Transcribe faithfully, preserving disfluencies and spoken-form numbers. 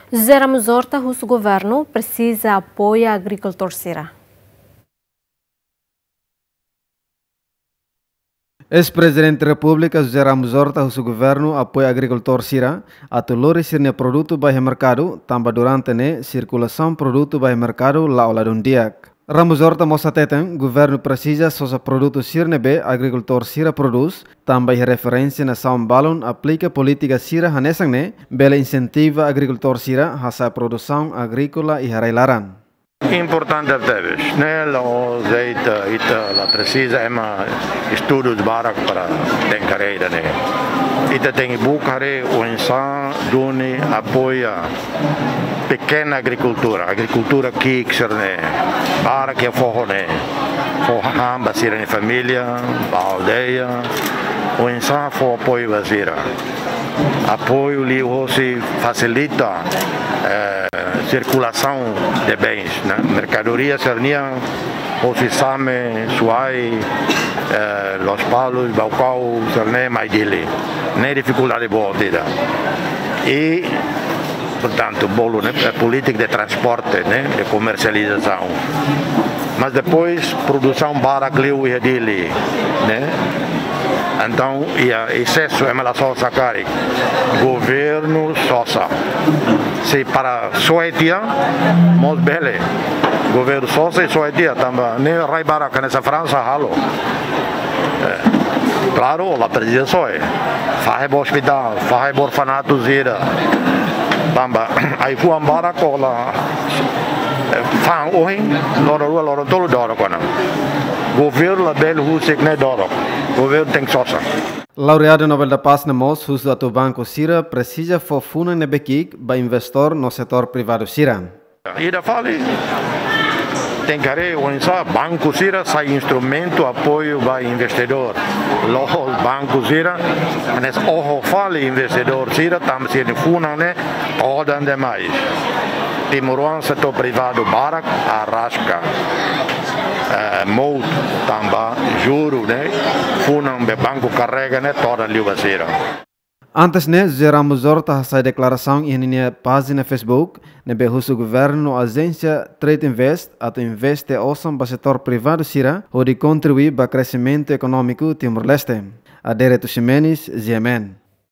José Ramos Horta husu governu presiza apoia agrikultór sira. Eis-Prezidente Repúblika José Ramos Horta husu governu apoia agrikultór sira atu lori sira-nia produtu ba iha merkadu, tanba durante ne'e sirkulasaun produtu ba iha merkadu la'o ladún di'ak. Ramos Horta mós hateten, governu presiza sosa produtu sira ne'ebé agrikultór sira prodús, tanba iha referénsia nasaun balun aplika polítika sira hanesan ne'e, bele insentiva agrikultór sira hasa'e produsaun agríkola iha rai-laran. Importante tebes, ne'e la'ós de'it, ita la presiza ema estudu barak para tenke haree ida-ne'e. Ita tenke buka haree oinsá duni apoia pekena agrikultura, agrikultura ki'ik sira-ne'e, barak iha foho ne'e, fó hahán ba sira-nia família, ba aldeia, oinsá fó apoiu ba sira. Apoiu liuhosi fasilita, eh, sirkulasaun de bens, ne'e, merkadoria sira-nian, hosi Same, Suai, eh, Lospalos, Baucau, sira-ne'e mai Dili. Ne'e difikuldade boot ida. I, portantu, bolu, ne'e, eh, polítika de transporte, ne'e, de komersializasaun. Mas depois, produsaun barak liu iha Dili, ne'e? Entaun, iha esesu ema la sosa karik. Governu sosa. Se para soe tiha, mós bele. Governu sosa i soe tiha, tanba ne'e rai barak hanesan Fransa halo. Eh, klaru, la presiza soe. Fahe ba ospitál, fahe ba orfanatu sira. Tanba, ai-fuan barak kola, eh, fa'an ohin, loron rua, loron tolu doro kona. Governu labele husik ne'e doro. Governu tenke sosa. Laureadu Nobel da Paz ne'e mós husu atu banku sira presiza fó funan ne'ebé ki'ik ba investór no setór privadu sira. Ida fali, tenke haree oinsá banku sira sai instrumentu apoiu ba investidór. La'ós banku sira, hanesan oho fali investidór sira, tanba sira-nia funan ne'e todan demais. Timoroan setór privadu barak araska, eh, mout tanba juru ne'e, funan be banku karrega ne'e todan liu ba sira. Antes ne'e, José Ramos Horta hasai deklarasaun iha ninia pájina Facebook, ne'ebé husu governu no ajénsia Trade Invest atu investe osan ba setór privadu sira, hodi kontribui ba kreximentu ekonómiku Timor-Leste. Adérito Ximenes, G M N.